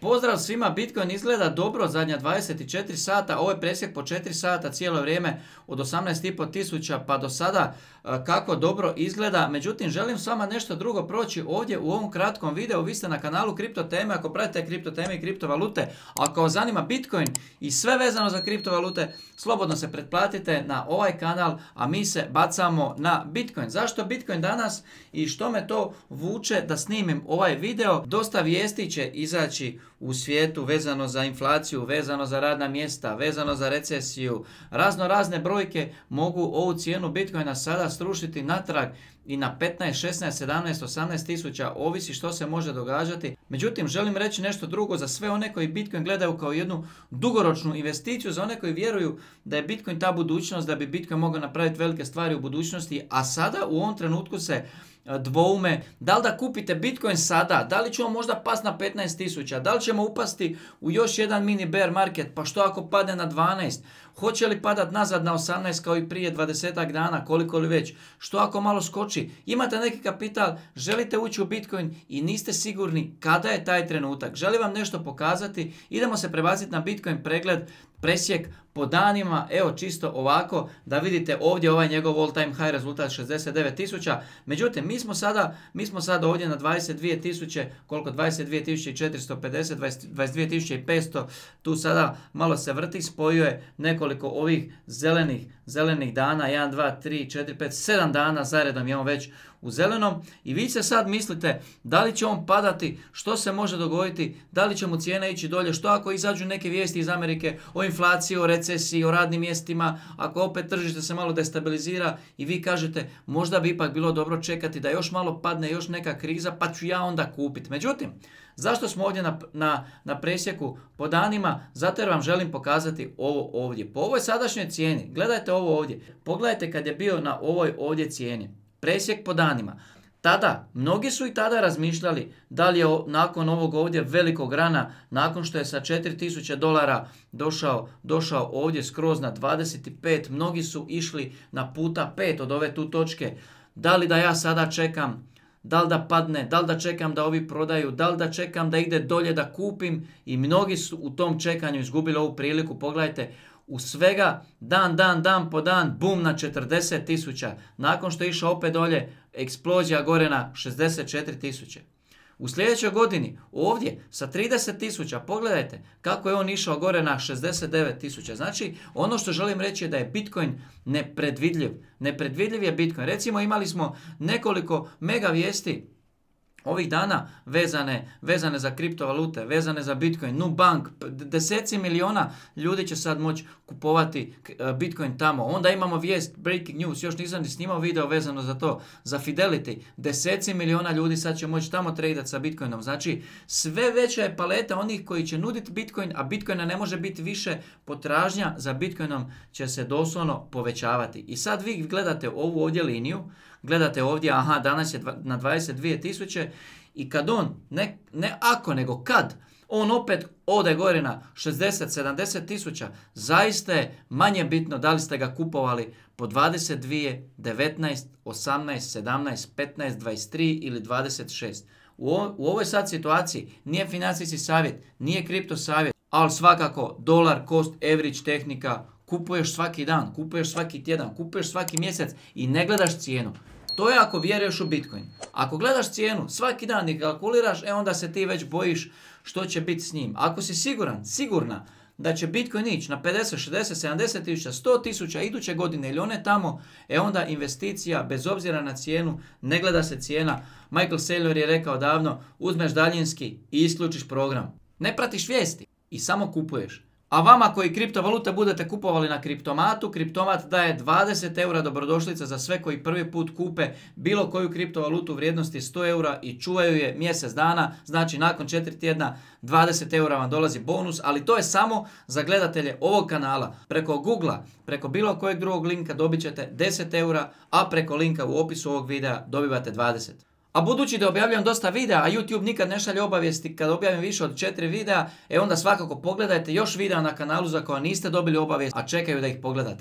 Pozdrav svima, Bitcoin izgleda dobro zadnja 24 sata, ovo je presjek po 4 sata cijelo vrijeme od 18,5 tisuća pa do sada kako dobro izgleda. Međutim, želim s vama nešto drugo proći ovdje u ovom kratkom videu. Vi ste na kanalu Kripto teme, ako pratite kripto teme i kriptovalute, ako vas zanima Bitcoin i sve vezano za kriptovalute, slobodno se pretplatite na ovaj kanal, a mi se bacamo na Bitcoin. Zašto Bitcoin danas i što me to vuče da snimim ovaj video? Dosta vijesti će izaći u svijetu vezano za inflaciju, vezano za radna mjesta, vezano za recesiju. Razne brojke mogu ovu cijenu Bitcoina sada srušiti natrag i na 15, 16, 17, 18 tisuća, ovisi što se može događati. Međutim, želim reći nešto drugo za sve one koji Bitcoin gledaju kao jednu dugoročnu investiciju, za one koji vjeruju da je Bitcoin ta budućnost, da bi Bitcoin mogao napraviti velike stvari u budućnosti, a sada u ovom trenutku se dvoume da li da kupite Bitcoin sada, da li ćemo možda pasti na 15 tisuća, da li ćemo upasti u još jedan mini bear market, pa što ako padne na 12, hoće li padat nazad na 18 kao i prije 20 dana, koliko li već, što ako malo skoči, imate neki kapital, želite ući u Bitcoin i niste sigurni kada je taj trenutak, želim vam nešto pokazati, idemo se prebaciti na Bitcoin pregled, presjek po danima, evo čisto ovako da vidite ovdje ovaj njegov all time high rezultat 69 tisuća. Međutim, mi smo sada ovdje na 22 tisuće, koliko 22.450, 22.500, tu sada malo se vrti, spojio je nekoliko ovih zelenih dana, 1, 2, 3, 4, 5, 7 dana zaredom je on već u zelenom i vi se sad mislite da li će on padati, što se može dogoditi, da li će mu cijena ići dolje, što ako izađu neke vijesti iz Amerike o inflaciji, o recesiji, o radnim mjestima, ako opet tržište se malo destabilizira i vi kažete možda bi ipak bilo dobro čekati da još malo padne, još neka kriza pa ću ja onda kupiti. Međutim, zašto smo ovdje na presjeku po danima? Zato jer vam želim pokazati ovo ovdje. Po ovoj sadašnjoj cijeni, gledajte ovo ovdje, pogledajte kad je bio na ovoj ovdje cijeni. Presjek po danima. Tada, mnogi su i tada razmišljali da li je nakon ovog ovdje velikog rana, nakon što je sa $4.000 došao ovdje skroz na 25, mnogi su išli na puta 5 od ove tu točke. Da li da ja sada čekam, da li da padne, da li da čekam da ovi prodaju, da li da čekam da ide dolje da kupim i mnogi su u tom čekanju izgubili ovu priliku. Pogledajte, u svega dan po dan, bum na 40 tisuća. Nakon što je išao opet dolje, eksplozija gore na 64 tisuće. U sljedećoj godini ovdje sa 30 tisuća, pogledajte kako je on išao gore na 69 tisuća. Znači ono što želim reći je da je Bitcoin nepredvidljiv. Nepredvidljiv je Bitcoin. Recimo imali smo nekoliko mega vijesti ovih dana vezane za kriptovalute, vezane za Bitcoin, Nubank, deseci miliona ljudi će sad moći kupovati Bitcoin tamo. Onda imamo vijest, breaking news, još nisam ni snimao video vezano za to, za Fidelity, deseci miliona ljudi sad će moći tamo tradati sa Bitcoinom. Znači, sve veća je paleta onih koji će nuditi Bitcoin, a Bitcoina ne može biti više, potražnja za Bitcoinom će se doslovno povećavati. I sad vi gledate ovu ovdje liniju, gledate ovdje, aha, danas je na 22 tisuće i kad on, ne ako, nego kad, on opet ode gore na 60-70 tisuća, zaista je manje bitno da li ste ga kupovali po 22, 19, 18, 17, 15, 23 ili 26. U ovoj sad situaciji nije financijski savjet, nije kripto savjet, ali svakako dolar cost average tehnika, kupuješ svaki dan, kupuješ svaki tjedan, kupuješ svaki mjesec i ne gledaš cijenu. To je ako vjeruješ u Bitcoin. Ako gledaš cijenu svaki dan i kalkuliraš, onda se ti već bojiš što će biti s njim. Ako si sigurna da će Bitcoin ići na 50, 60, 70 tisuća, 100 tisuća iduće godine ili one tamo, onda investicija bez obzira na cijenu, ne gleda se cijena. Michael Saylor je rekao davno, uzmeš daljinski i isključiš program. Ne pratiš vijesti i samo kupuješ. A vama koji kriptovalute budete kupovali na Kriptomatu, Kriptomat daje 20 eura dobrodošlica za sve koji prvi put kupe bilo koju kriptovalutu vrijednosti 100 eura i čuvaju je mjesec dana, znači nakon 4 tjedna 20 eura vam dolazi bonus, ali to je samo za gledatelje ovog kanala. Preko Googlea, preko bilo kojeg drugog linka dobit ćete 10 eura, a preko linka u opisu ovog videa dobivate 20. A budući da objavljam dosta videa, a YouTube nikad ne šalje obavijesti kad objavim više od 4 videa, onda svakako pogledajte još videa na kanalu za koja niste dobili obavijest, a čekaju da ih pogledate.